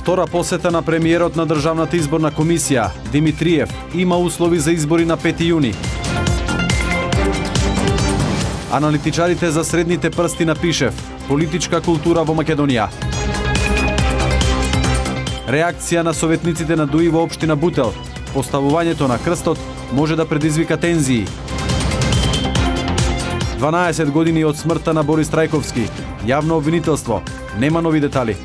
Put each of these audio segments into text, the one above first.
Втора посета на премиерот на Државната изборна комисија, Димитриев, има услови за избори на 5 јуни. Аналитичарите за средните прсти на Пишев, политичка култура во Македонија. Реакција на советниците на ДУИ во општина Бутел, поставувањето на крстот може да предизвика тензии. 12 години од смртта на Борис Трајковски, јавно обвинителство, нема нови детали.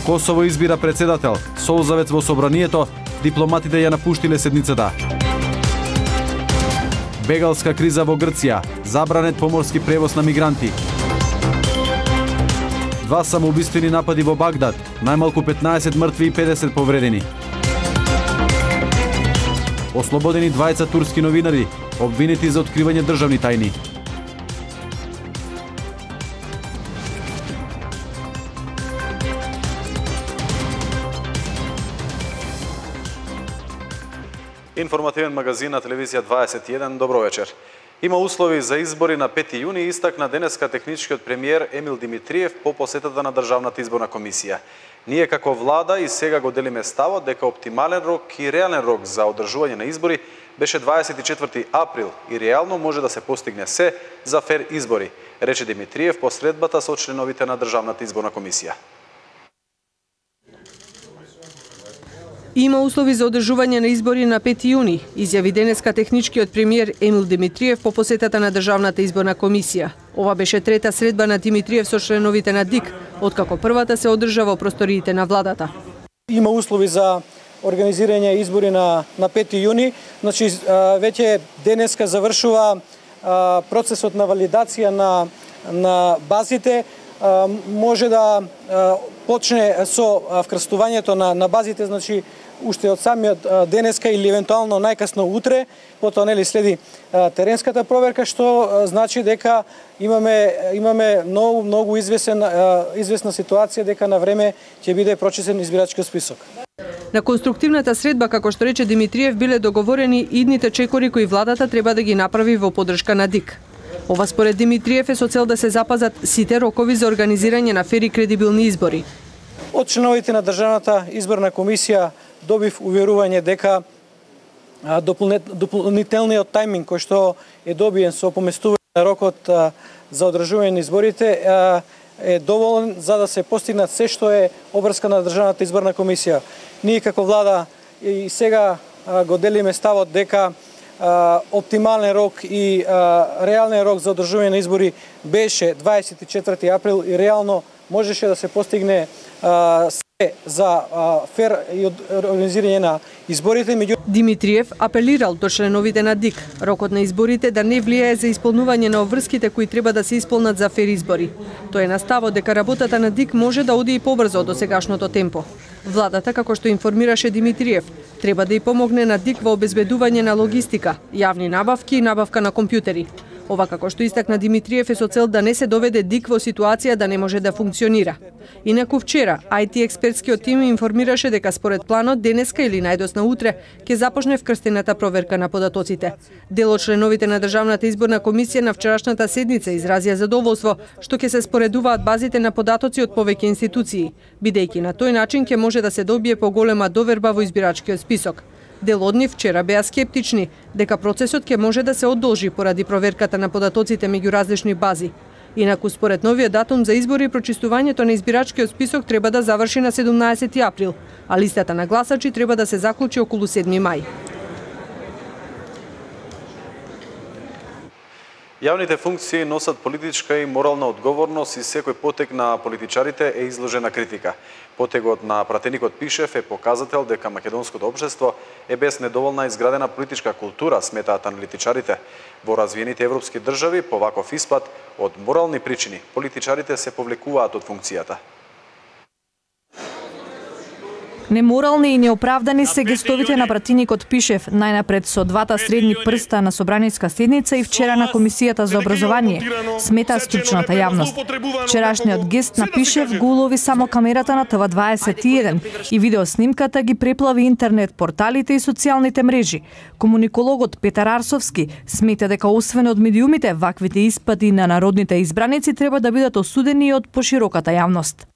Косово избира председател, солзавец во собранието, дипломатите ја напуштиле седницата. Бегалска криза во Грција, забранет поморски превоз на мигранти. 2 самоубиствени напади во Багдад, најмалку 15 мртви и 50 повредени. Ослободени 20 турски новинари, обвинети за откривање државни тајни. Информативен магазин на телевизија 21, добро вечер. Има услови за избори на 5 јуни, истакна денеска техничкиот премиер Емил Димитриев по посетата на Државната изборна комисија. Ние како влада и сега го делиме ставот дека оптимален рок и реален рок за одржување на избори беше 24 април и реално може да се постигне се за фер избори, рече Димитриев по средбата со членовите на Државната изборна комисија. Има услови за одржување на избори на 5 јуни, изјави денеска техничкиот премиер Емил Димитриев по посетата на Државната изборна комисија. Ова беше трета средба на Димитриев со членовите на ДИК, откако првата се одржа во просториите на владата. Има услови за организирање избори на 5 јуни, значи веќе денеска завршува процесот на валидација на базите, може да почне со вкрстувањето на базите, значи уште од самиот денеска или евентуално најкасно утре, потоа нели следи теренската проверка, што значи дека имаме многу известна ситуација дека на време ќе биде прочесен избирачкиот список. На конструктивната средба, како што рече Димитриев, биле договорени идните чекори кои владата треба да ги направи во поддршка на ДИК. Ова според Димитриев е со цел да се запазат сите рокови за организирање на фер и кредибилни избори. Од членовите на Државната изборна комисија добив уверување дека дополнителниот тајминг кој што е добиен со поместување на рокот за одржување на изборите е доволен за да се постигнат се што е обврска на Државната изборна комисија. Ние како влада и сега го делиме ставот дека оптимален рок и реален рок за одржување на избори беше 24 април и реално можеше да се постигне се за фер и организирање на изборите. Димитриев апелирал до членовите на ДИК рокот на изборите да не влијае за исполнување на обврските кои треба да се исполнат за фер избори. Тој е на ставот дека работата на ДИК може да оди и побрзо од досегашното темпо. Владата, како што информираше Димитриев, треба да и помогне на ДИК во обезбедување на логистика, јавни набавки и набавка на компјутери. Ова, како што истакна Димитриев, е со цел да не се доведе ДИК во ситуација да не може да функционира. Инаку вчера, IT експертскиот тим информираше дека според планот денеска или најдосна утре ќе започне вкрстената проверка на податоците. Дел од членовите на Државната изборна комисија на вчерашната седница изразија задоволство што ќе се споредуваат базите на податоци од повеќе институции, бидејќи на тој начин ќе може да се добие поголема доверба во избирачкиот список. Дел од нив вчера беа скептични дека процесот ќе може да се одолжи поради проверката на податоците меѓу различни бази. Инаку според новиот датум за избори прочистувањето на избирачкиот список треба да заврши на 17 април, а листата на гласачи треба да се заклучи околу 7 мај. Јавните функции носат политичка и морална одговорност и секој потег на политичарите е изложен на критика. Потегот на пратеникот Пишев е показател дека македонското општество е без недоволна изградена политичка култура, сметаат аналитичарите. Во развиените европски држави, по ваков испад, од морални причини, политичарите се повлекуваат од функцијата. Неморални и неоправдани се гестовите на пратеникот Пишев, најнапред со двата средни прста на собраниска седница и вчера на Комисијата за образование, смета стручната јавност. Вчерашниот гест на Пишев го улови само камерата на ТВ21 и видеоснимката ги преплави интернет порталите и социјалните мрежи. Комуникологот Петар Арсовски смета дека освен од медиумите, ваквите испади на народните избраници треба да бидат осудени и од пошироката јавност.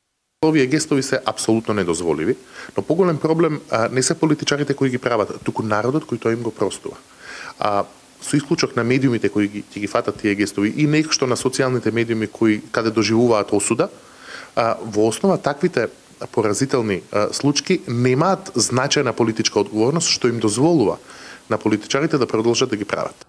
Овие гестови се апсолутно недозволиви, но поголем проблем не се политичарите кои ги прават, туку народот кој тоа им го простува. Со исклучок на медиумите кои ги фатат тие гестови и нешто на социјалните медиуми кои каде доживуваат осуда, во основа таквите поразителни случаи немаат значајна политичка одговорност што им дозволува на политичарите да продолжат да ги прават.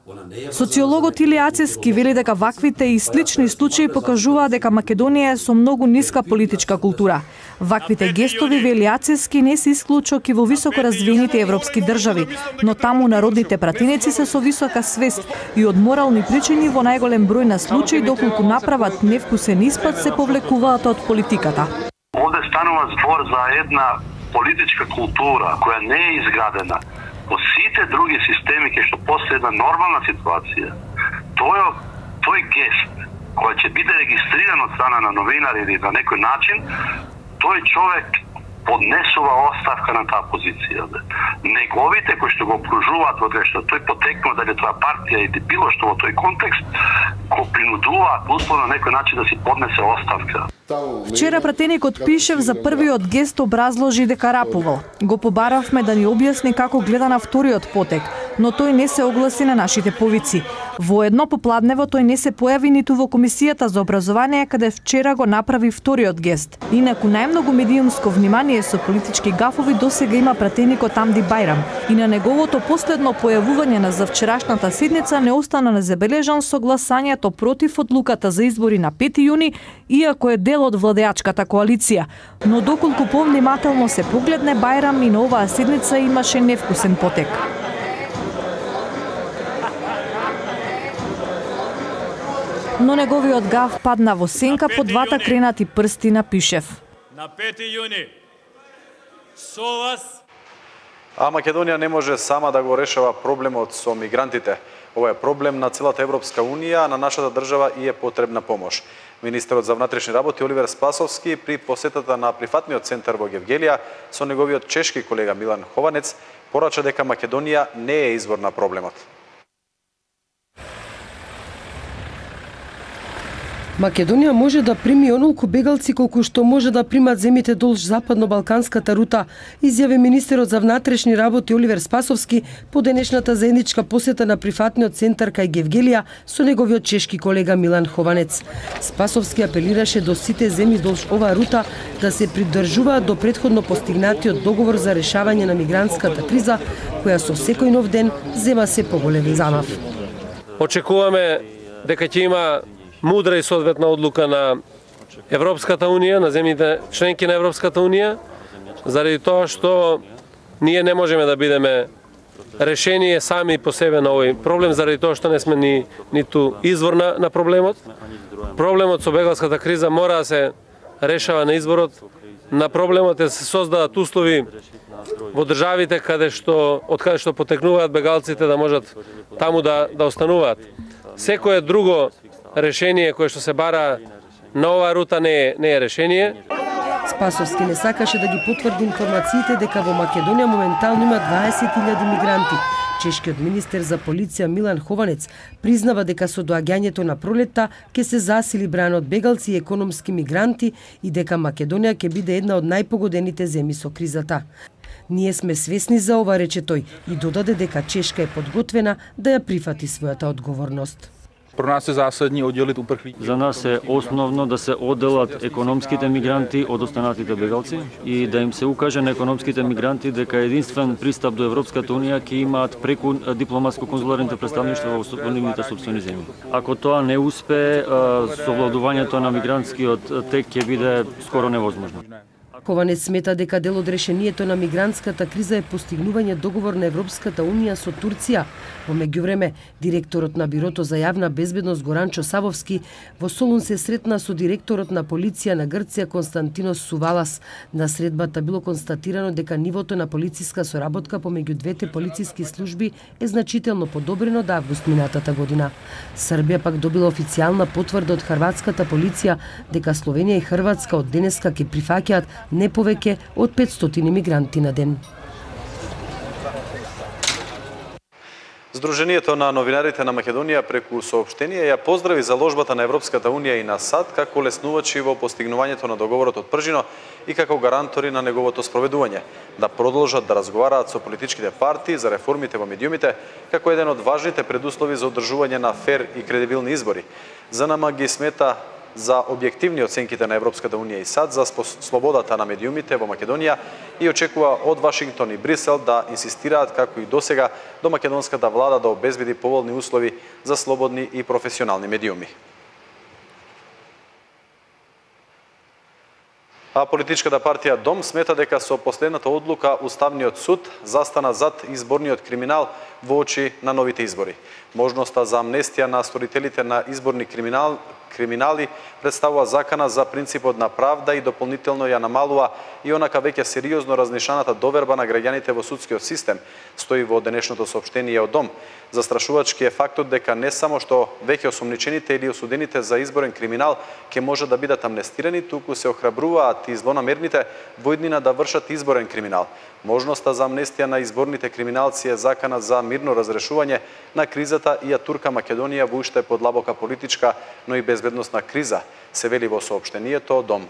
Социологот Илија Ацевски вели дека ваквите и слични случаи покажуваат дека Македонија е со многу ниска политичка култура. Ваквите гестови, вели Ацевски, не се исклучок и во високо развиените европски држави, но таму народните пратеници се со висока свест и од морални причини во најголем број на случаи доколку направат невкусен испад се повлекуваат од политиката. Овде станува збор за една политичка култура која не е изградена во сите други системи кај што постои една нормална ситуација. Тој гест кој ќе биде регистриран од страна на новинари или на некој начин, тој човек поднесува оставка на таа позиција. Неговите кои што го обкружуваат во што тој потекнува дали тоа партија или било што во тој контекст, го принудуваат условно на некој начин да си поднесе оставка. Вчера пратеникот Пишев за првиот гест образложи дека рапувал. Го побаравме да ни објасни како гледа на вториот потек, но тој не се огласи на нашите повици. Воедно попладнево тој не се појави ниту во Комисијата за образование, каде вчера го направи вториот гест. Инаку најмногу медиумско внимание со политички гафови досега има пратеникот Амди Бајрам и на неговото последно појавување на завчерашната седница не остана незабележан со гласањето против одлуката за избори на 5 јуни, иако е дел од владеачката коалиција. Но доколку повнимателно се погледне, Бајрам и на оваа седница имаше невкусен потек. Но неговиот гаф падна во сенка по двата кренати прсти на Пишев. На 5 јуни со вас. А Македонија не може сама да го решава проблемот со мигрантите. Ова е проблем на целата Европска Унија, а на нашата држава и е потребна помош. Министерот за внатрешни работи Оливер Спасовски при посетата на прифатниот центар во Гевгелија со неговиот чешки колега Милан Хованец порача дека Македонија не е извор на проблемот. Македонија може да прими онолку бегалци колку што може да примат земите долж западно-балканската рута, изјави министерот за внатрешни работи Оливер Спасовски по денешната заедничка посета на прифатниот центар кај Гевгелија со неговиот чешки колега Милан Хованец. Спасовски апелираше до сите земји долж оваа рута да се придржуваат до претходно постигнатиот договор за решавање на мигрантската криза, која со секој нов ден зема се поголем замав. Очекуваме дека ќе има мудра и соодветна одлука на Европската Унија, на земјите членки на Европската Унија, заради тоа што ние не можеме да бидеме решение сами по себе на овој проблем, заради тоа што не сме ниту извор на проблемот. Проблемот со бегалската криза мора да се решава на изворот на проблемот, да се создадат услови во државите од каде што потекнуваат бегалците да можат таму да остануваат. Секое друго решение кое што се бара на оваа рута не е решение. Спасовски не сакаше да ги потврди информациите дека во Македонија моментално има 20.000 мигранти. Чешкиот министер за полиција Милан Хованец признава дека со доаѓањето на пролетта ќе се засили брајан од бегалци и економски мигранти и дека Македонија ќе биде една од најпогодените земји со кризата. Ние сме свесни за ова, рече тој, и додаде дека Чешка е подготвена да ја прифати својата одговорност. За нас е основно да се одделат економските мигранти од останатите бегалци и да им се укаже на економските мигранти дека единствен пристап до Европската Унија ќе имаат преку дипломатско-конзуларните представништва во нивните сопствени земји. Ако тоа не успее, совладувањето на мигрантскиот тек ќе биде скоро невозможно. Хованец смета дека дел од решението на мигрантската криза е постигнување договор на Европската Унија со Турција. Во меѓувреме, директорот на Бирото за јавна безбедност Горанчо Савовски во Солун се сретна со директорот на полиција на Грција Константинос Сувалас. На средбата било констатирано дека нивото на полициска соработка помеѓу двете полициски служби е значително подобрено од август минатата година. Србија пак добила официјална потврда од хрватската полиција дека Словенија и Хрватска од денеска ќе прифаќаат не повеќе од 500 мигранти на ден. Сдруженијето на новинарите на Македонија преку соопштение ја поздрави заложбата на Европската Унија и на САД како леснувачи во постигнувањето на договорот од Пржино и како гарантори на неговото спроведување, да продолжат да разговараат со политичките партии за реформите во медиумите како еден од важните предуслови за одржување на фер и кредибилни избори. ЗНМ ги смета за објективни оценките на Европската Унија и САД за слободата на медиумите во Македонија и очекува од Вашингтон и Брисел да инсистираат како и досега до македонската влада да обезбеди поволни услови за слободни и професионални медиуми. А политичката партија ДОМ смета дека со последната одлука Уставниот суд застана зад изборниот криминал во очи на новите избори. Можноста за амнестија на сторителите на изборни криминали представува закана за принципот на правда и дополнително ја намалува и онака веќе сериозно разнишаната доверба на граѓаните во судскиот систем, стои во денешното соопштение од ДОМ. Застрашувачки е фактот дека не само што веќе осомничените или осудените за изборен криминал ќе може да бидат амнестирани, туку се охрабруваат и злонамерните во иднина да вршат изборен криминал. Можноста за амнестија на изборните криминалци е закана за мирно разрешување на кризата и ја турка Македонија во уште подлабока политичка, но и безбедносна криза, се вели во соопштението ДОМ.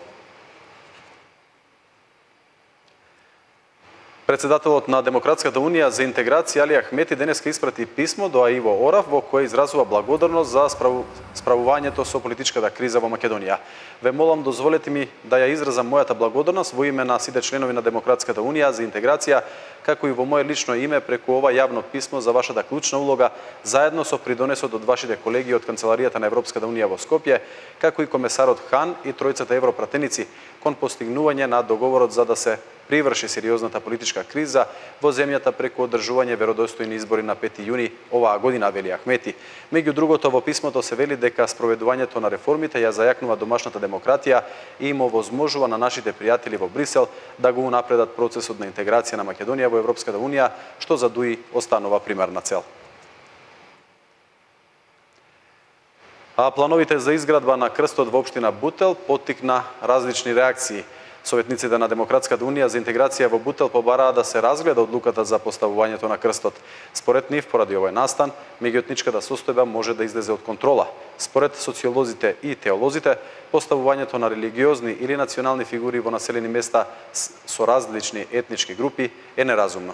Председателот на Демократската Унија за интеграција Али Ахмети денеска испрати писмо до Аиво Орав во кое изразува благодарност за справувањето со политичката криза во Македонија. Ве молам, дозволете ми да ја изразам мојата благодарност во име на сите членови на Демократската Унија за интеграција, како и во моје лично име преку ова јавно писмо за вашата клучна улога, заедно со придонесот од вашите колеги од Канцеларијата на Европската Унија во Скопје, како и комесарот Хан и тројцата европратеници кон постигнување на договорот за да се приврши сериозната политичка криза во земјата преку одржување веродостојни избори на 5 јуни оваа година, вели Ахмети. Меѓу другото, во писмото се вели дека спроведувањето на реформите ја зајакнува домашната демократија и им овозможува на нашите пријатели во Брисел да го унапредат процесот на интеграција на Македонија во Европската Унија, што за ДУИ останува примерна цел. А плановите за изградба на крстот во општина Бутел поттикна различни реакции. Советниците на Демократската Унија за интеграција во Бутел побараа да се разгледа одлуката за поставувањето на крстот. Според нив, поради овој настан, меѓуетничката состојба може да излезе од контрола. Според социолозите и теолозите, поставувањето на религиозни или национални фигури во населени места со различни етнички групи е неразумно.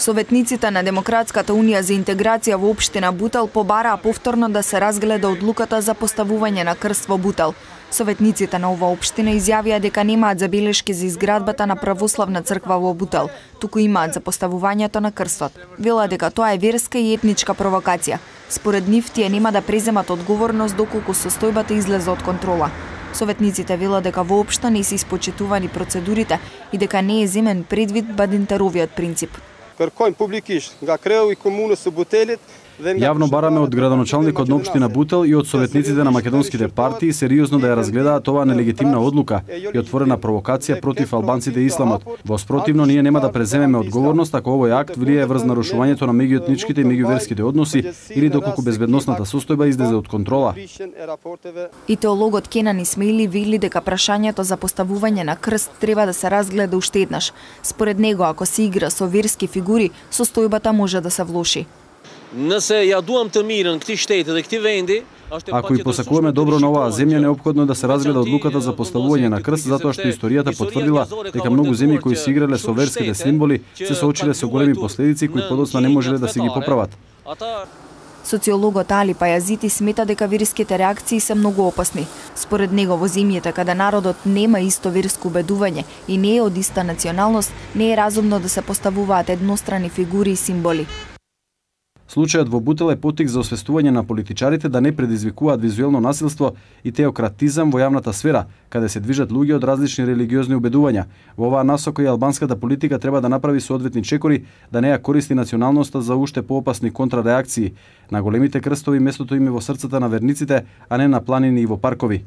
Советниците на Демократската Унија за интеграција во општина Бутел побараа повторно да се разгледа одлуката за поставување на крст во Бутел. Советниците на оваа општина изјавија дека немаат забелешки за изградбата на православна црква во Бутел, туку имаат за поставувањето на крстот. Вела дека тоа е верска и етничка провокација. Според нив тие нема да преземат одговорност доколку состојбата излезе од контрола. Советниците велат дека воопшто не се испочитувани процедурите и дека не е земен предвид бадинтеровиот принцип. Јавно бараме од градоначалникот на општина Бутел и од советниците на македонските партии сериозно да ја разгледаат оваа нелегитимна одлука и отворена провокација против албанците и исламот. Во спротивно, ние нема да преземеме одговорност ако овој акт влие врз нарушувањето на меѓуетничките и меѓуверските односи или доколку безбедносната состојба излезе од контрола. И теологот Кенан Исмаили вели дека прашањето за поставување на крст треба да се разгледа уште еднаш. Според него, ако се игра со верски фигури, состојбата може да се влоши. Ако и посакуваме добро на оваа земја, неопходно е да се разгледа одлуката за поставување на крст, затоа што историјата потврдила дека многу земји кои се играле со верските символи се соочиле со големи последици кои подоцна не можеле да се ги поправат. Социологот Али Пајазити смета дека верските реакции се многу опасни. Според него, во земјите каде народот нема исто верско убедување и не е од иста националност, не е разумно да се поставуваат еднострани фигури и символи. Случајот во Бутел е поттик за освестување на политичарите да не предизвикуваат визуелно насилство и теократизам во јавната сфера, каде се движат луѓе од различни религиозни убедувања. Во оваа насока и албанската политика треба да направи соодветни чекори да не ја користи националноста за уште поопасни контрареакции. На големите крстови местото им е во срцата на верниците, а не на планини и во паркови.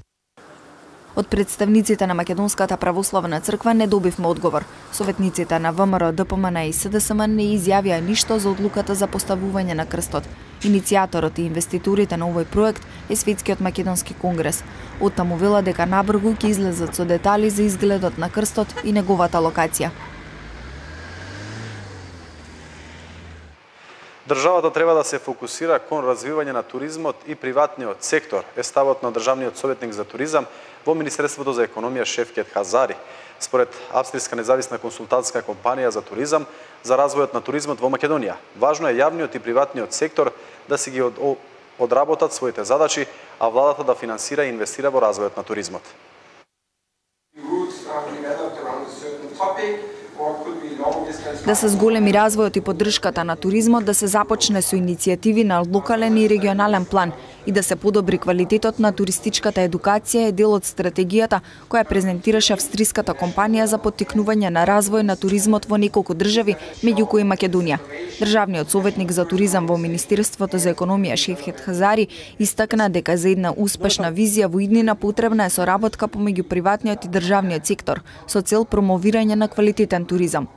Од представниците на Македонската православна црква не добивме одговор. Советниците на ВМРО, ДПМН и СДСМ не изјавија ништо за одлуката за поставување на крстот. Иницијаторот и инвеститорите на овој проект е Светскиот македонски конгрес. Оттаму вела дека набрзо ќе излезат со детали за изгледот на крстот и неговата локација. Државата треба да се фокусира кон развивање на туризмот и приватниот сектор, е ставот на државниот советник за туризам во Министерството за економија Шевкет Хазари. Според австријска независна консултантска компанија за туризам, за развојот на туризмот во Македонија, важно е јавниот и приватниот сектор да си ги одработат своите задачи, а владата да финансира и инвестира во развојот на туризмот. Да се зголеми развојот и поддршката на туризмот, да се започне со иницијативи на локален и регионален план и да се подобри квалитетот на туристичката едукација е дел од стратегијата која презентираше австриската компанија за поттикнување на развој на туризмот во неколку држави, меѓу кои Македонија. Државниот советник за туризам во Министерството за економија Шевкет Хазари истакна дека за една успешна визија во иднина потребна е соработка помеѓу приватниот и државниот сектор со цел промовирање на квалитетен туризам.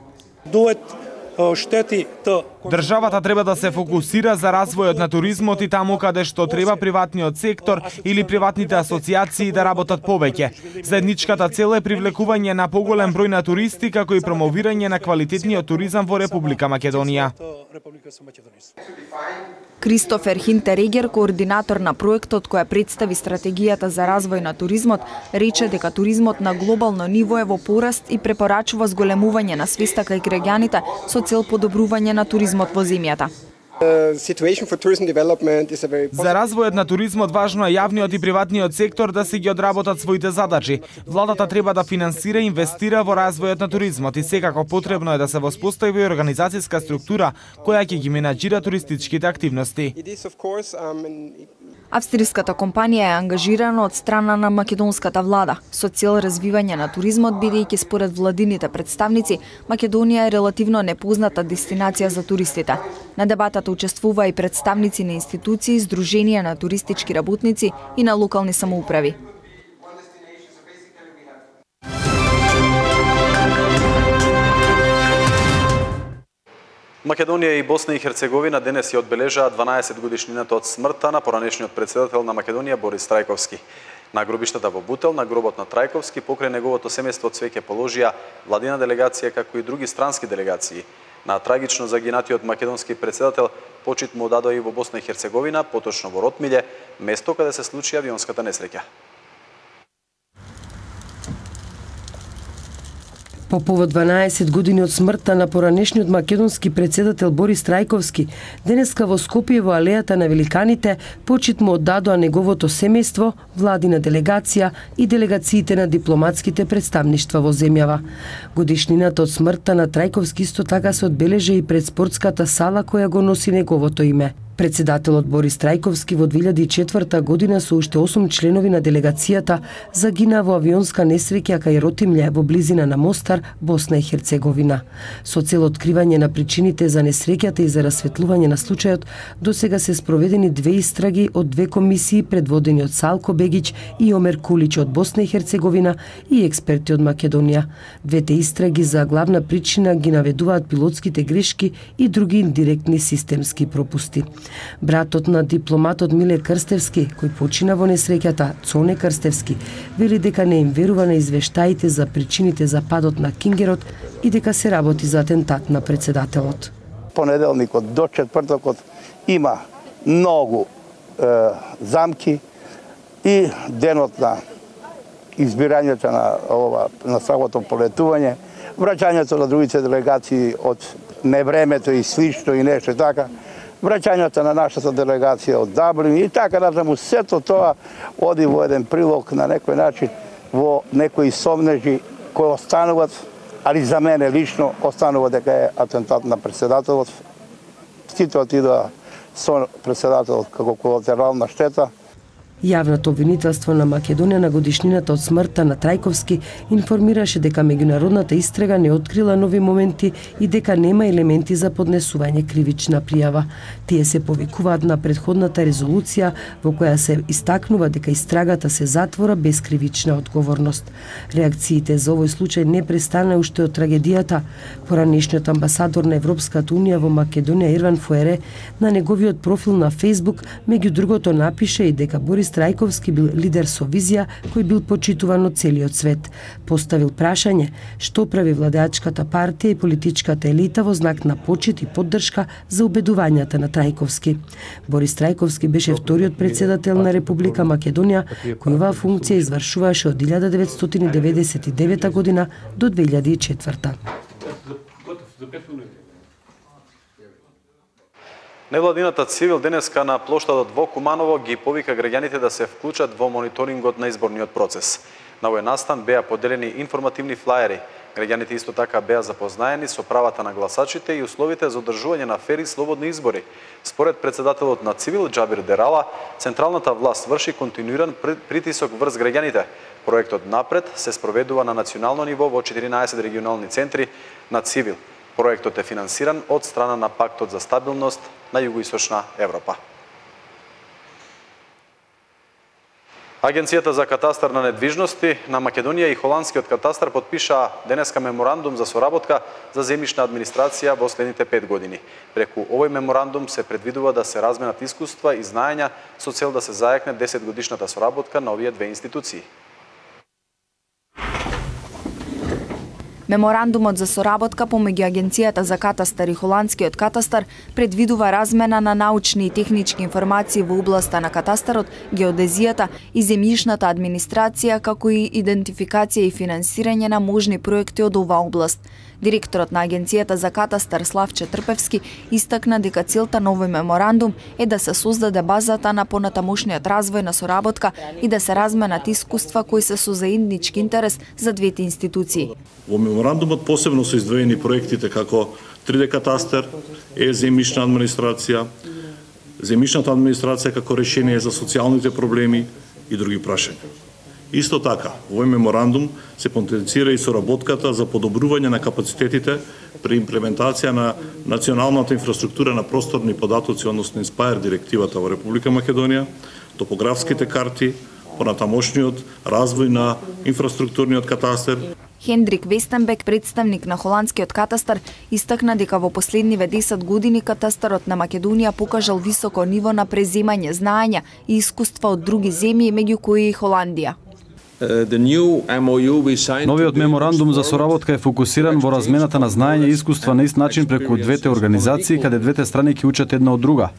Државата треба да се фокусира за развојот на туризмот и таму каде што треба приватниот сектор или приватните асоциации да работат повеќе. Заедничката цел е привлекување на поголем број на туристи како и промовирање на квалитетниот туризам во Република Македонија. Кристофер Хинтерегер, координатор на проектот која представи стратегијата за развој на туризмот, рече дека туризмот на глобално ниво е во пораст и препорачува зголемување на свеста кај граѓаните со цел подобрување на туризмот во земјата. За развојот на туризмот важно е јавниот и приватниот сектор да си ги одработат своите задачи. Владата треба да финансира и инвестира во развојот на туризмот и секако потребно е да се воспостави организацијска структура која ќе ги менаџира туристичките активности. Австриската компанија е ангажирана од страна на македонската влада со цел развивање на туризмот, бидејќи според владините представници Македонија е релативно непозната дестинација за туристите. На дебатата учествува и представници на институции, здруженија на туристички работници и на локални самоуправи. Македонија и Босна и Херцеговина денес ја одбележаа 12 годишнината од смртта на поранешниот председател на Македонија Борис Трајковски. На гробиштата во Бутел, на гробот на Трајковски, покрај неговото семејство цвеќе положија владина делегација како и други странски делегации. На трагично загинатиот македонски председател почит му дадоа и во Босна и Херцеговина, поточно во Ротмиле, место каде се случи авионската несреќа. По повод 12 години од смртта на поранешниот македонски председател Борис Трајковски, денеска во Скопје во алејата на великаните почит му оддадоа неговото семејство, владина делегација и делегациите на дипломатските представништва во земјава. Годишнината од смртта на Трајковски исто така се одбележа и пред спортската сала која го носи неговото име. Председателот Борис Трајковски во 2004 година со уште 8 членови на делегацијата загина во авионска несреќа кај Ротимље во близина на Мостар, Босна и Херцеговина. Со цел откривање на причините за несреќата и за расветлување на случајот, досега се спроведени 2 истраги од 2 комисии предводени од Салко Бегич и Омер Кулич од Босна и Херцеговина и експерти од Македонија. Двете истраги за главна причина ги наведуваат пилотските грешки и други индиректни системски пропусти. Братот на дипломатот Миле Крстевски, кој почина во несреќата, Цоне Крстевски, вели дека не им верува на извештаите за причините за падот на Кингерот и дека се работи за атентат на председателот. Понеделникот до четвртокот има многу замки и денот на избирањето на самото полетување, враќањето на другите делегации од невремето и слично и нешто така, враќањето на нашата делегација од Даблин и така натаму, сето тоа оди во еден прилог на некој начин во некои сомнежи кои остануват, али за мене лично останува дека е атентат на председателот. Сите отидоа со председателот како колатерална штета. Јавното обвинителство на Македонија на годишнината од смртта на Трајковски информираше дека меѓународната истрага не открила нови моменти и дека нема елементи за поднесување кривична пријава. Тие се повикуваат на претходната резолуција во која се истакнува дека истрагата се затвора без кривична одговорност. Реакциите за овој случај не престана уште од трагедијата. Поранешниот амбасадор на Европската унија во Македонија Ирван Фуере на неговиот профил на Facebook меѓу другото напише и дека Борис Борис Трајковски бил лидер со визија кој бил почитуван од целиот свет. Поставил прашање што прави владеачката партија и политичката елита во знак на почит и поддршка за убедувањата на Трајковски. Борис Трајковски беше вториот председател на Република Македонија кој оваа функција извршуваше од 1999 година до 2004. Невладината Цивил денеска на плоштадот во Куманово ги повика граѓаните да се вклучат во мониторингот на изборниот процес. На овој настан беа поделени информативни флаери. Граѓаните исто така беа запознаени со правата на гласачите и условите за одржување на фери и слободни избори. Според председателот на Цивил Џабир Дерала, централната власт врши континуиран притисок врз граѓаните. Проектот напред се спроведува на национално ниво во 14 регионални центри на Цивил. Проектот е финансиран од страна на Пактот за стабилност на Југоисточна Европа. Агенцијата за катастар на недвижности на Македонија и холандскиот катастар потпишаа денеска меморандум за соработка за земјишна администрација во следните 5 години. Преку овој меморандум се предвидува да се разменат искуства и знаења со цел да се зајакне 10-годишната соработка на овие две институции. Меморандумот за соработка помеѓу Агенцијата за катастар и холандскиот катастар предвидува размена на научни и технички информации во областа на катастарот, геодезијата и земјишната администрација, како и идентификација и финансирање на можни проекти од оваа област. Директорот на Агенцијата за катастар Славче Трпевски истакна дека целта на овој меморандум е да се создаде базата на понатамошниот развој на соработка и да се разменат искуства кои се со заеднички интерес за двете институции. Во меморандумот посебно се издвоени проектите како 3D катастар, земјишна администрација, земјишната администрација како решение за социјалните проблеми и други прашања. Исто така, во овој меморандум се потенцира и соработката за подобрување на капацитетите при имплементација на националната инфраструктура на просторни податоци, односно Inspire директивата во Република Македонија, топографските карти, понатамошниот развој на инфраструктурниот катастар. Хендрик Вестенбек, представник на холандскиот катастар, истакна дека во последниве 10 години катастарот на Македонија покажал високо ниво на преземање знаења и искуства од други земји, меѓу кои и Холандија. Новиот меморандум за соработка е фокусиран во размената на знаење и искуства на ист начин преку двете организации, каде двете страни ќе учат една од друга.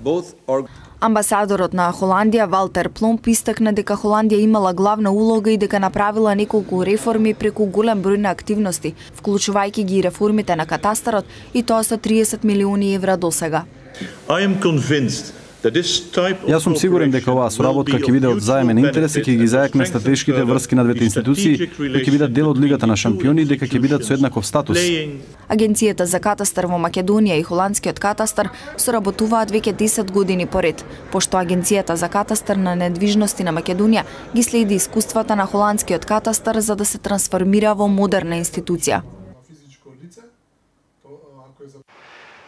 Амбасадорот на Холандија Валтер Пломп истакна дека Холандија имала главна улога и дека направила неколку реформи преку голем број на активности, вклучувајќи ги реформите на катастарот, и тоа со 30 милиони евра досега. Јас сум сигурен дека оваа соработка ќе биде од заемен интерес и ќе ги зајакне стратешките врски на двете институции, дека ќе бидат дел од Лигата на шампиони и дека ќе бидат со еднаков статус. Агенцијата за катастар во Македонија и холандскиот катастар соработуваат веќе 10 години поред, пошто Агенцијата за катастар на недвижности на Македонија ги следи искуствата на холандскиот катастар за да се трансформира во модерна институција.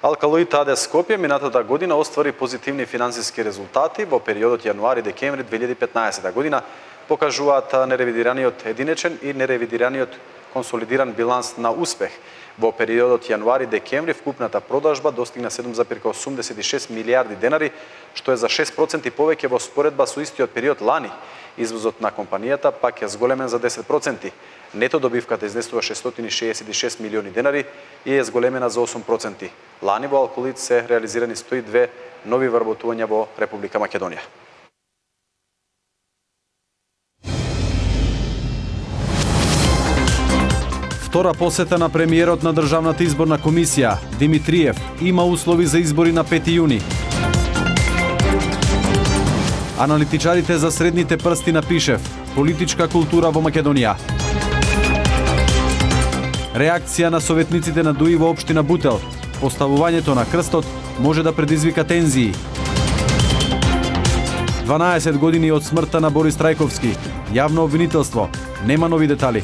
Алкалоид АД Скопје минатата година оствари позитивни финансиски резултати во периодот јануари-декември 2015 година, покажуваат неревидираниот единечен и неревидираниот консолидиран биланс на успех. Во периодот јануари-декември вкупната продажба достигна 7,86 милиарди денари, што е за 6% повеќе во споредба со истиот период лани. Извозот на компанијата пак е зголемен за 10%. Нето добивката изнесува 666 милиони денари и е зголемена за 8%. Лани во алколит се реализирани 102 нови вработувања во Република Македонија. Втора посета на премиерот на Државната изборна комисија, Димитриев, има услови за избори на 5 јуни. Аналитичарите за средните прсти на Пишев, политичка култура во Македонија. Реакција на советниците на ДУИ во општина Бутел, поставувањето на крстот може да предизвика тензии. 12 години од смртта на Борис Трајковски, јавно обвинителство, нема нови детали.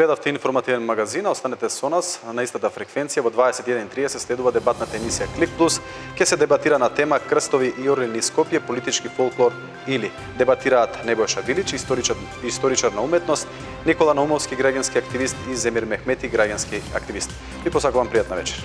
Гледавте информативен магазин, останете со нас на истата фреквенција. Во 21:30 следува дебатната емисија Клик Плюс. Ке се дебатира на тема крстови и орлини Скопје, политички фолклор или. Дебатираат Небојша Вилич, историчар на уметност, Никола Наумовски, граѓански активист и Земир Мехмети, граѓански активист. Ви посакувам пријатна вечер.